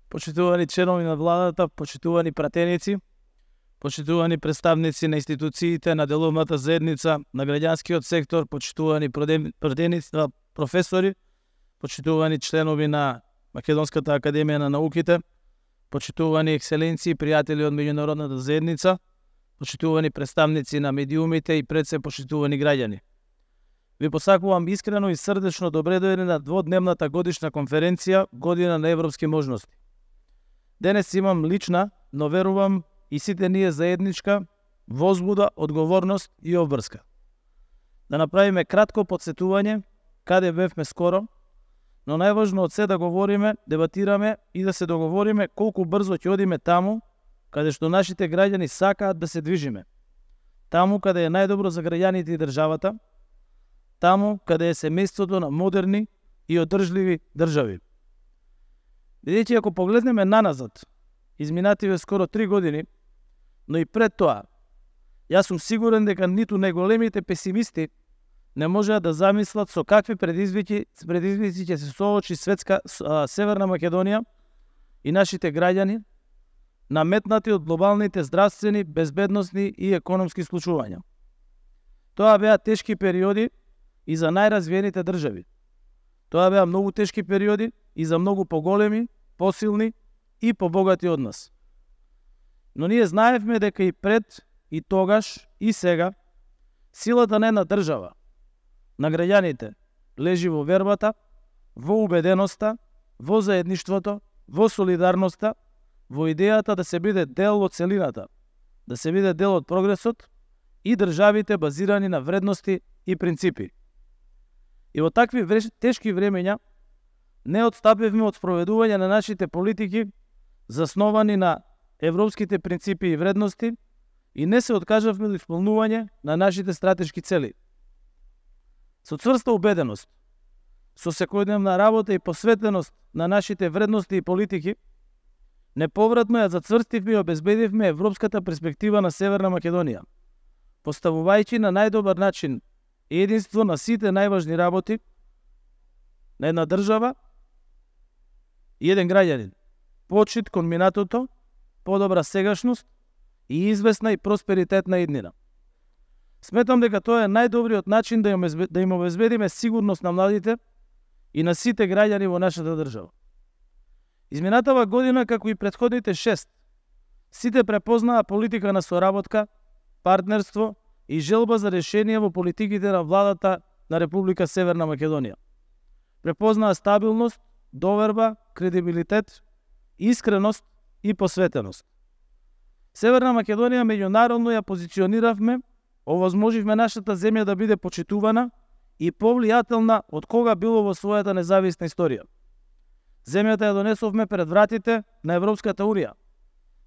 почитувани членови на владата, почитувани пратеници, почитувани представници на институциите, на деловната заедница, на граѓанскиот сектор, почитувани професори, почитувани членови на Македонската академија на науките, почитувани екселенции, пријатели од меѓународната заедница, почитувани представници на медиумите и пред се почитувани граѓани. Ви посакувам искрено и срдечно добре дојдени на дводневната годишна конференција Година на европски можности. Денес имам лична, но верувам и сите ние заедничка возбуда, одговорност и обврска. Да направиме кратко подсетување каде бевме скоро, но најважно од се да говориме, дебатираме и да се договориме колку брзо ќе одиме таму каде што нашите граѓани сакаат да се движиме. Таму каде е најдобро за граѓаните и државата, таму каде е семејството на модерни и одржливи држави. Бидејќи ако погледнеме наназад, изминативе скоро 3 години, но и пред тоа, јас сум сигурен дека ниту најголемите песимисти не можеа да замислат со какви предизвици ќе се соочи Северна Македонија и нашите граѓани, наметнати од глобалните здравствени, безбедносни и економски случувања. Тоа беа тешки периоди и за најразвиените држави. Тоа беа многу тешки периоди и за многу поголеми, посилни и побогати од нас. Но ние знаевме дека и пред, и тогаш, и сега, силата на една држава, на граѓаните, лежи во вербата, во убеденоста, во заедништвото, во солидарноста, во идејата да се биде дел од целината, да се биде дел од прогресот и државите базирани на вредности и принципи. И во такви тешки времења не отстапивме од спроведување на нашите политики засновани на европските принципи и вредности и не се откажавме од исполнување на нашите стратешки цели. Со цврста убеденост, со секојдневна работа и посветеност на нашите вредности и политики, неповратно ја зацврстивме и обезбедивме европската перспектива на Северна Македонија, поставувајќи на најдобар начин единство на сите најважни работи на една држава и еден граѓанин, почит кон минатото, подобра сегашност и известна и просперитетна иднина. Сметам дека тоа е најдобриот начин да им обезбедиме сигурност на младите и на сите граѓани во нашата држава. Изминатава година, како и претходните 6, сите препознаа политика на соработка, партнерство и желба за решение во политиките на владата на Република Северна Македонија. Препознаа стабилност, доверба, кредибилитет, искреност и посветеност. Северна Македонија меѓународно ја позициониравме, овозможивме нашата земја да биде почитувана и повлијателна од кога било во својата независна историја. Земјата ја донесовме пред вратите на Европската Унија.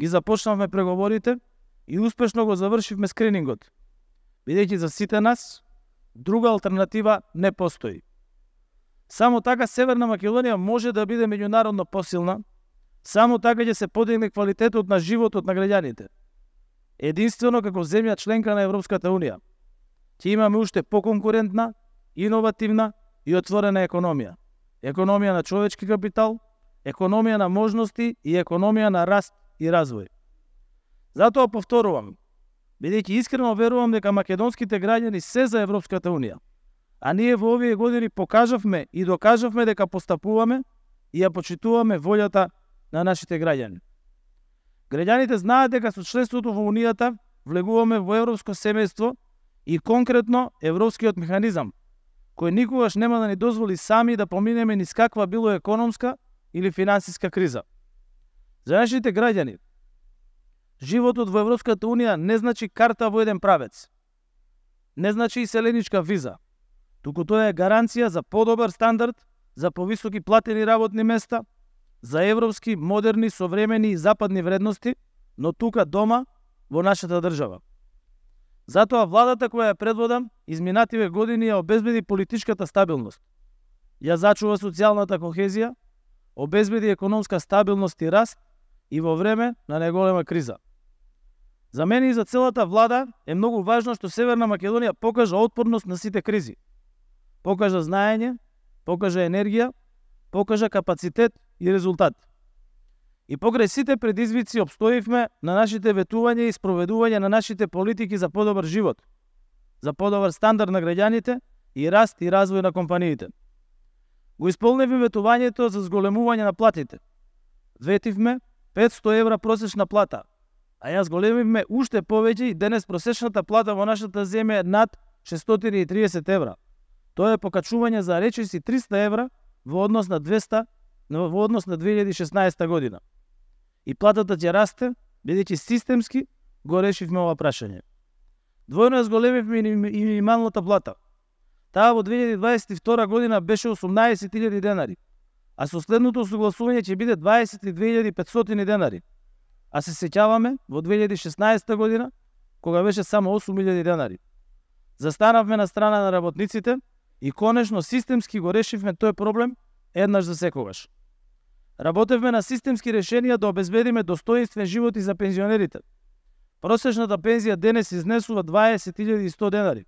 Ги започнавме преговорите и успешно го завршивме скринингот, бидејќи за сите нас друга алтернатива не постои. Само така Северна Македонија може да биде меѓународно посилна, само така ќе се подигне квалитетот на животот на граѓаните. Единствено како земја членка на Европската Унија ќе имаме уште поконкурентна, иновативна и отворена економија. Економија на човечки капитал, економија на можности и економија на раст и развој. Затоа повторувам, бидејќи искрено верувам дека македонските граѓани се за Европската Унија, а ние во овие години покажавме и докажавме дека постапуваме и ја почитуваме волјата на нашите граѓани. Граѓаните знаат дека со членството во Унијата влегуваме во европско семејство и конкретно европскиот механизам, кој никогаш нема да ни дозволи сами да поминеме низ каква било економска или финансиска криза. За нашите граѓани, животот во Европската Унија не значи карта во еден правец, не значи иселеничка виза, туку тоа е гаранција за подобар стандард, за повисоки платени работни места, за европски, модерни, современи и западни вредности, но тука дома, во нашата држава. Затоа владата која ја предводам изминативе години ја обезбеди политичката стабилност, ја зачува социјалната кохезија, обезбеди економска стабилност и раст и во време на најголема криза. За мене и за целата влада е многу важно што Северна Македонија покажа отпорност на сите кризи. Покажа знаење, покажа енергија, покажа капацитет и резултат. И покрај сите предизвици обстоивме на нашите ветувања и спроведување на нашите политики за подобар живот, за подобар стандард на граѓаните и раст и развој на компаниите. Го исполнивме ветувањето за зголемување на платите. Ветивме 500 евра просечна плата, а ја зголемивме уште повеќе и денес просечната плата во нашата земја е над 630 евра. Тоа е покачување за речиси 300 евра во однос на 2016 година. И платата ќе расте, бидејќи системски го решивме ова прашање. Двојно ја зголемивме и минималната плата. Таа во 2022 година беше 18.000 денари, а со следното согласување ќе биде 22.500 денари. А се сеќаваме во 2016 година, кога беше само 8.000 денари. Застанавме на страна на работниците и конечно системски го решивме тој проблем еднаш за секогаш. Работевме на системски решенија да обезбедиме достоинствен живот и за пензионерите. Просечната пензија денес изнесува 20.100 денари,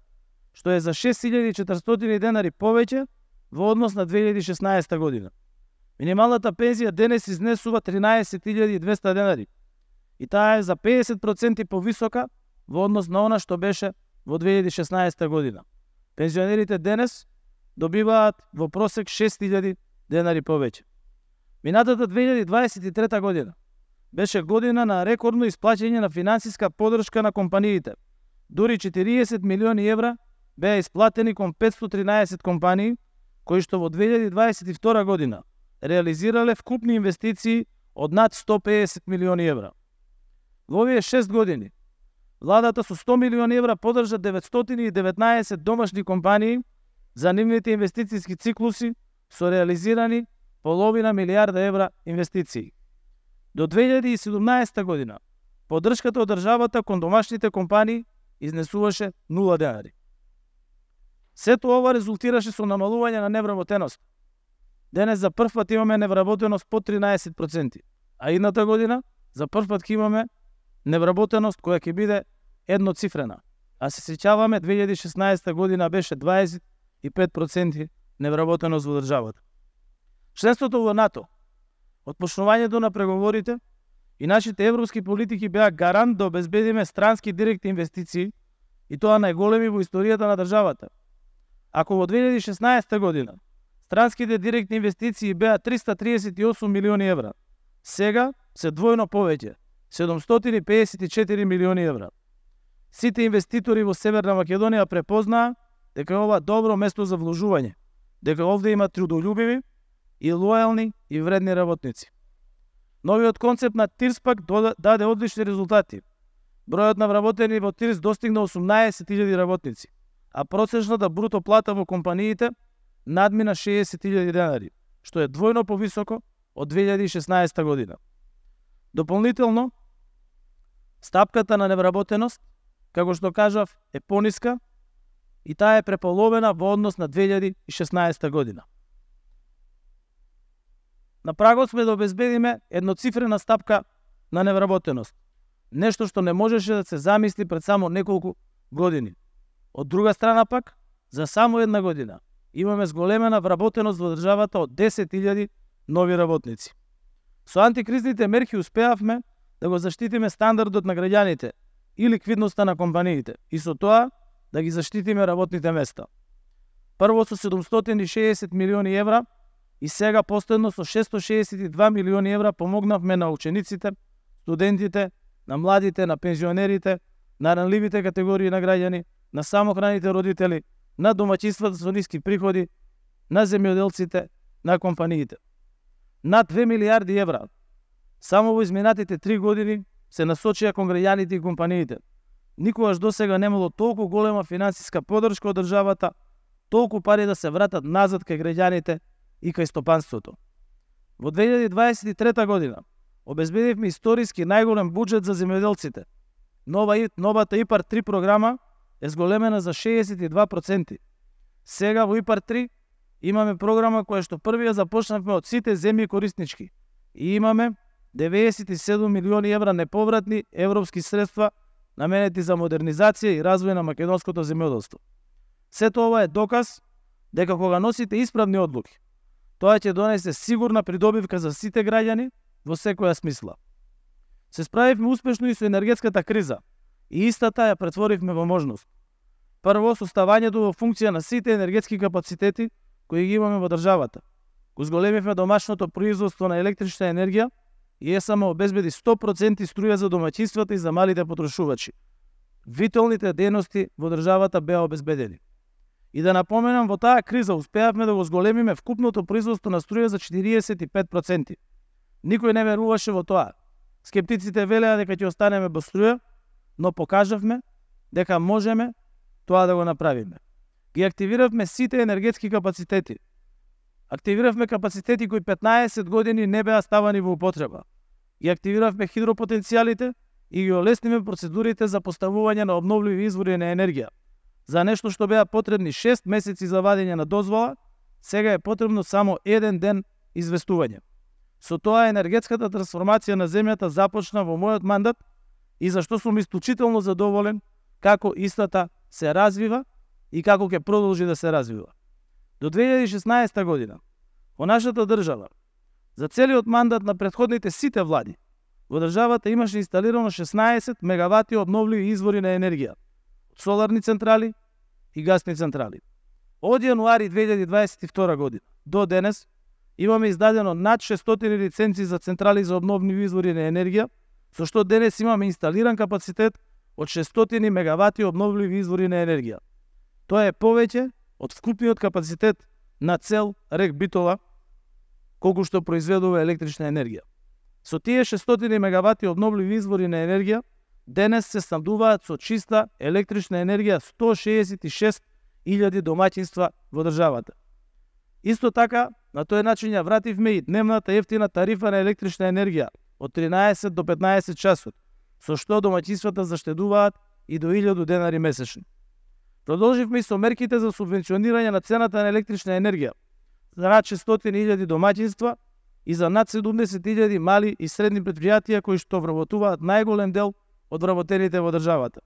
што е за 6.400 денари повеќе во однос на 2016 година. Минималната пензија денес изнесува 13.200 денари и таа е за 50% повисока во однос на она што беше во 2016 година. Пензионерите денес добиваат во просек 6.000 денари повеќе. Минатата 2023 година беше година на рекордно исплаќање на финансиска поддршка на компаниите. Дури 40 милиони евра беа исплатени кон 513 компании, кои што во 2022 година реализирале вкупни инвестиции од над 150 милиони евра. Во овие 6 години, владата со 100 милиони евра поддржа 919 домашни компании за нивните инвестициски циклуси со реализирани половина милијарда евра инвестиции. До 2017 година, поддршката од државата кон домашните компании изнесуваше 0 денари. Сето ова резултираше со намалување на невработеност. Денес за прв пат имаме невработеност под 13%, а идната година за прв пат ќе имаме невработеност која ќе биде едноцифрена. А се сеќаваме 2016 година беше 25% невработеност во државата. Членството во НАТО, отпочнувањето на преговорите и нашите европски политики беа гарант да обезбедиме странски директни инвестиции и тоа најголеми во историјата на државата. Ако во 2016 година странските директни инвестиции беа 338 милиони евра, сега се двојно повеќе, 754 милиони евра. Сите инвеститори во Северна Македонија препознаа дека е ова добро место за вложување, дека овде има трудолюбиви и лојални и вредни работници. Новиот концепт на ТИРС пак даде одлични резултати. Бројот на вработени во ТИРС достигна 18.000 работници, а просечната бруто плата во компаниите надмина 60.000 денари, што е двојно повисоко од 2016 година. Дополнително, стапката на невработеност, како што кажав, е пониска и таа е преполовена во однос на 2016 година. На прагот сме да обезбедиме едноцифрена стапка на невработеност, нешто што не можеше да се замисли пред само неколку години. Од друга страна пак, за само една година имаме зголемена вработеност во државата од 10.000 нови работници. Со антикризните мерки успеавме да го заштитиме стандардот на граѓаните и ликвидноста на компаниите и со тоа да ги заштитиме работните места. Прво со 760 милиони евра и сега последно со 662 милиони евра помогнавме на учениците, студентите, на младите, на пензионерите, на ранливите категории на граѓани, на самохраните родители, на домаќинствата со ниски приходи, на земјоделците, на компаниите. Над 2 милијарди евра само во изминатите 3 години се насочија кон граѓаните и компаниите. Никогаш досега немало толку голема финансиска поддршка од државата, толку пари да се вратат назад кај граѓаните и кај стопанството. Во 2023 година обезбедивме историски најголем буџет за земјоделците. Новата ИПАР 3 програма е зголемена за 62%. Сега во ИПАР 3 имаме програма која што првија започнавме од сите земји кориснички и имаме 97 милиони евра неповратни европски средства наменети за модернизација и развој на македонското земјоделство. Сето ова е доказ дека кога носите исправни одлуки, тоа ќе донесе сигурна придобивка за сите граѓани, во секоја смисла. Се справивме успешно и со енергетската криза и истата ја претворивме во можност. Прво, со ставањето во функција на сите енергетски капацитети кои ги имаме во државата. Го зголемивме домашното производство на електрична енергија и ЕСМ обезбеди 100% струја за домаќинствата и за малите потрошувачи. Виталните дејности во државата беа обезбедени. И да напоменам, во таа криза успеавме да го зголемиме вкупното производство на струја за 45%. Никој не веруваше во тоа. Скептиците велеа дека ќе останеме без струја, но покажавме дека можеме тоа да го направиме. Ги активиравме сите енергетски капацитети. Активиравме капацитети кои 15 години не беа ставани во употреба. Ги активиравме хидропотенцијалите и ги олесниме процедурите за поставување на обновливи извори на енергија. За нешто што беа потребни 6 месеци за вадење на дозвола, сега е потребно само 1 ден известување. Со тоа енергетската трансформација на земјата започна во мојот мандат и зашто сум исклучително задоволен како истата се развива и како ќе продолжи да се развива. До 2016 година во нашата држава, за целиот мандат на претходните сите влади, во државата имаше инсталирано 16 мегавати обновливи извори на енергија, соларни централи и гасни централи. Од јануари 2022 година до денес имаме издадено над 600 лиценци за централи за обновливи извори на енергија, со што денес имаме инсталиран капацитет од 600 мегавати обновливи извори на енергија. Тоа е повеќе од вкупниот капацитет на цел РЕК Битола, колку што произведува електрична енергија. Со тие 600 мегавати обновливи извори на енергија, денес се снабдуваат со чиста електрична енергија 166.000 домаќинства во државата. Исто така, на тој начин ја вративме и дневната ефтина тарифа на електрична енергија од 13 до 15 часот, со што домаќинствата заштедуваат и до 1000 денари месечно. Продолживме и со мерките за субвенционирање на цената на електрична енергија за над 600.000 домаќинства и за над 70.000 мали и средни предпријатија кои што вработуваат најголем дел од вработените во државата.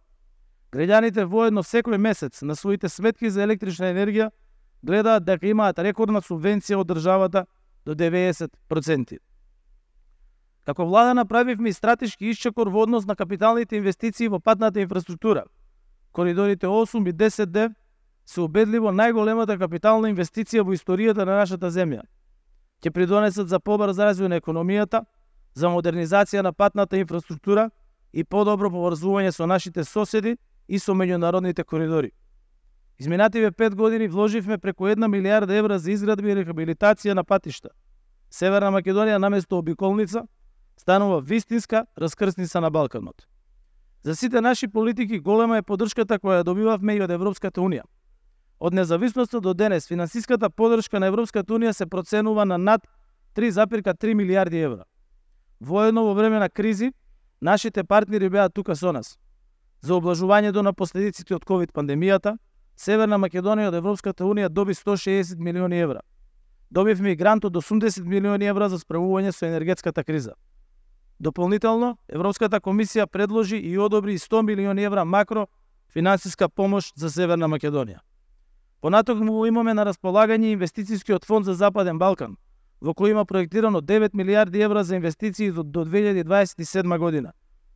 Граѓаните воедно секој месец на своите сметки за електрична енергија гледаат дека имаат рекордна субвенција од државата до 90%. Како влада направивме и стратешки исчекор во однос на капиталните инвестиции во патната инфраструктура. Коридорите 8 и 10D се убедливо најголемата капитална инвестиција во историјата на нашата земја. Ќе придонесат за побрз развој на економијата, за модернизација на патната инфраструктура и подобро поврзување со нашите соседи и со меѓународните коридори. Изминативе 5 години вложивме преку 1 милијарда евра за изградба и рехабилитација на патишта. Северна Македонија наместо обиколница станува вистинска раскрсница на Балканот. За сите наши политики голема е поддршката која добивавме и од Европската Унија. Од независноста до денес финансиската поддршка на Европската Унија се проценува на над 3,3 милијарди евра. Воедно во време на кризи, нашите партнери беа тука со нас. За облажувањето на последиците од ковид пандемијата, Северна Македонија од Европската Унија доби 160 милиони евра. Добивме и грант од 80 милиони евра за справување со енергетската криза. Дополнително, Европската комисија предложи и одобри 100 милиони евра макро финансиска помош за Северна Македонија. Понатокму имаме на располагање инвестицијскиот фонд за Западен Балкан, во кој има проектирано 9 милијарди евра за инвестиции до 2027 година,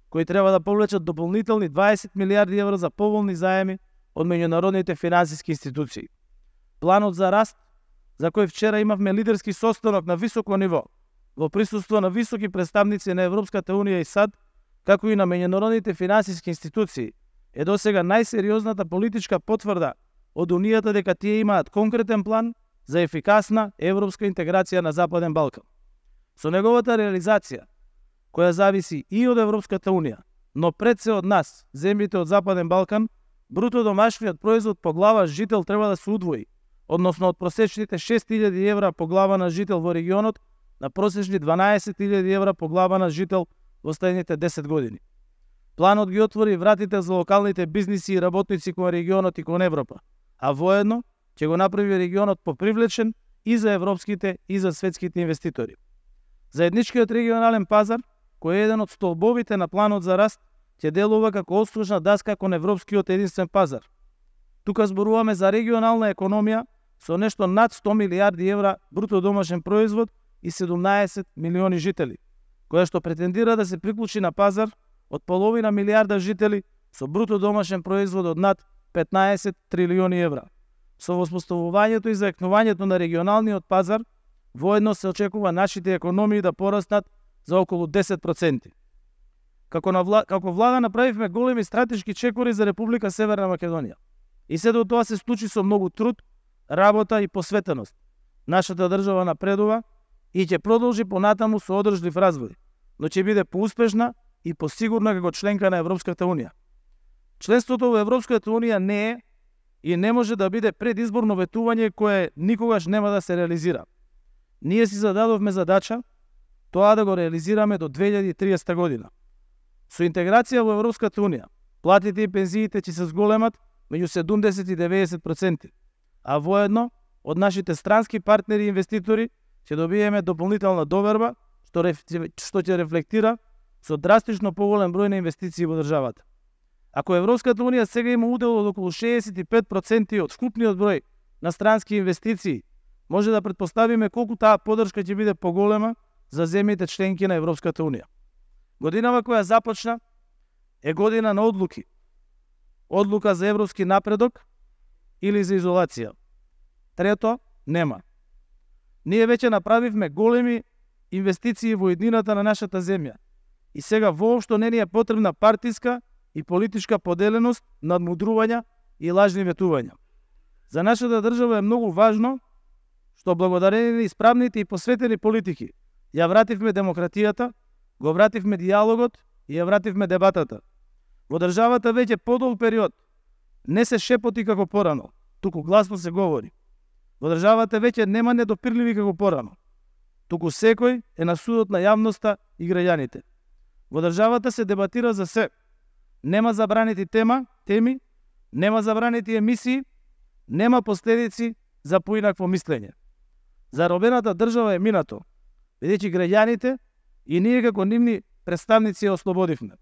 кои треба да повлечат дополнителни 20 милијарди евра за поволни заеми од меѓународните финансиски институции. Планот за раст, за кој вчера имавме лидерски состанок на високо ниво, во присуство на високи представници на Европската Унија и САД, како и на меѓународните финансиски институции, е досега најсериозната политичка потврда од Унијата дека тие имаат конкретен план за ефикасна европска интеграција на Западен Балкан. Со неговата реализација, која зависи и од Европската Унија, но пред се од нас, земјите од Западен Балкан, бруто домашниот производ по глава жител треба да се удвои, односно од просечните 6.000 евра по глава на жител во регионот на просечни 12.000 евра по глава на жител во следните 10 години. Планот ги отвори вратите за локалните бизниси и работници кон регионот и кон Европа, а воедно ќе го направи регионот попривлечен и за европските и за светските инвеститори. Заедничкиот регионален пазар, кој е еден од столбовите на планот за раст, ќе делува како отскочна даска кон европскиот единствен пазар. Тука зборуваме за регионална економија со нешто над 100 милијарди евра бруто домашен производ и 17 милиони жители. која што претендира да се приклучи на пазар од половина милијарда жители со бруто домашен производ од над 15 трилиони евра. Со воспоставувањето и заекнувањето на регионалниот пазар, воедно се очекува нашите економии да пораснат за околу 10%. Како влада направивме големи стратешки чекори за Република Северна Македонија. И сето тоа се случи со многу труд, работа и посветеност. Нашата држава напредува и ќе продолжи понатаму со одржлив развој, но ќе биде поуспешна и посигурна како членка на Европската Унија. Членството во Европската Унија не е и не може да биде предизборно ветување кое никогаш нема да се реализира. Ние си зададовме задача тоа да го реализираме до 2030 година. Со интеграција во Европската Унија, платите и пензиите ќе се зголемат меѓу 70 и 90%, а воедно од нашите странски партнери и инвеститори ќе добиеме дополнителна доверба што ќе рефлектира со драстично поголем број на инвестиции во државата. Ако Европската Унија сега има удел од околу 65% од вкупниот број на странски инвестиции, може да претпоставиме колку таа поддршка ќе биде поголема за земјите членки на Европската Унија. Годинава која започна е година на одлуки. Одлука за европски напредок или за изолација. Трето, нема. Ние веќе направивме големи инвестиции во еднината на нашата земја и сега воопшто не ни е потребна партиска и политичка поделеност, надмудрувања и лажни ветувања. За нашата држава е многу важно што благодарение на исправните и посветени политики ја вративме демократијата, го вративме диалогот и ја вративме дебатата. Во државата веќе подолг период не се шепоти како порано, туку гласно се говори. Во државата веќе нема недопирливи како порано, туку секој е на судот на јавноста и граѓаните. Во државата се дебатира за се. Нема забранети теми, нема забранети емисии, нема последици за поинакво мислење. Заробената држава е минато, бидејќи граѓаните и ние како нивни представници ја ослободивме.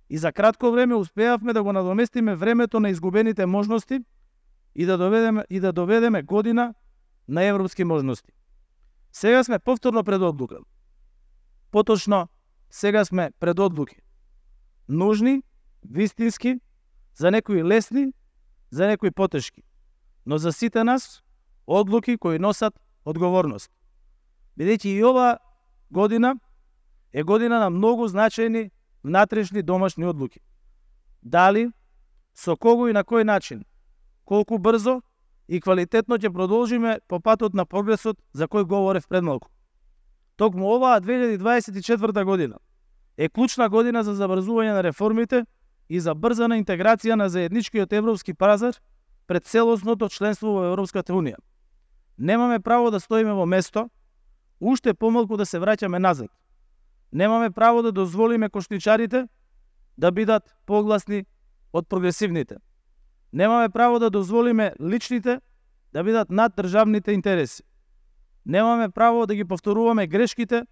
И за кратко време успеавме да го надоместиме времето на изгубените можности и да доведеме година на европски можности. Сега сме повторно пред одлука. Поточно, сега сме пред одлуки. Нужни, вистински, за некои лесни, за некои потешки. Но за сите нас, одлуки кои носат одговорност. Бидејќи и ова година е година на многу значајни внатрешни домашни одлуки. Дали, со кого и на кој начин, колку брзо и квалитетно ќе продолжиме по патот на прогресот за кој говорев пред малку. Токму оваа 2024 година е клучна година за забрзување на реформите и за брзана интеграција на заедничкиот европски пазар пред целосното членство во Европската Унија. Немаме право да стоиме во место, уште помалку да се враќаме назад. Немаме право да дозволиме коштичарите да бидат погласни од прогресивните. Немаме право да дозволиме личните да бидат над државните интереси. Немаме право да ги повторуваме грешките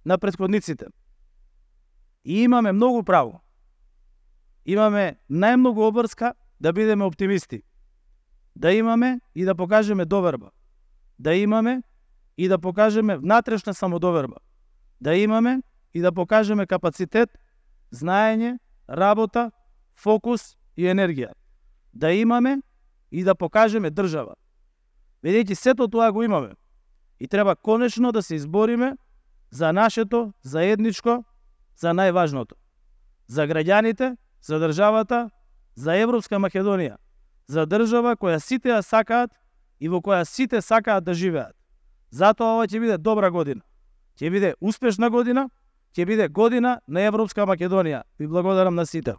на претходниците. И имаме многу право. Имаме најмногу обврска да бидеме оптимисти. Да имаме и да покажеме доверба. Да имаме и да покажеме внатрешна самодоверба. Да имаме и да покажеме капацитет, знаење, работа, фокус и енергија. Да имаме и да покажеме држава. Бидејќи сето тоа го имаме и треба конечно да се избориме за нашето заедничко, за најважното. За граѓаните, за државата, за Европска Македонија. За држава која сите ја сакаат и во која сите сакаат да живеат. Затоа ова ќе биде добра година. Ќе биде успешна година, ќе биде година на Европска Македонија. Ви благодарам на сите.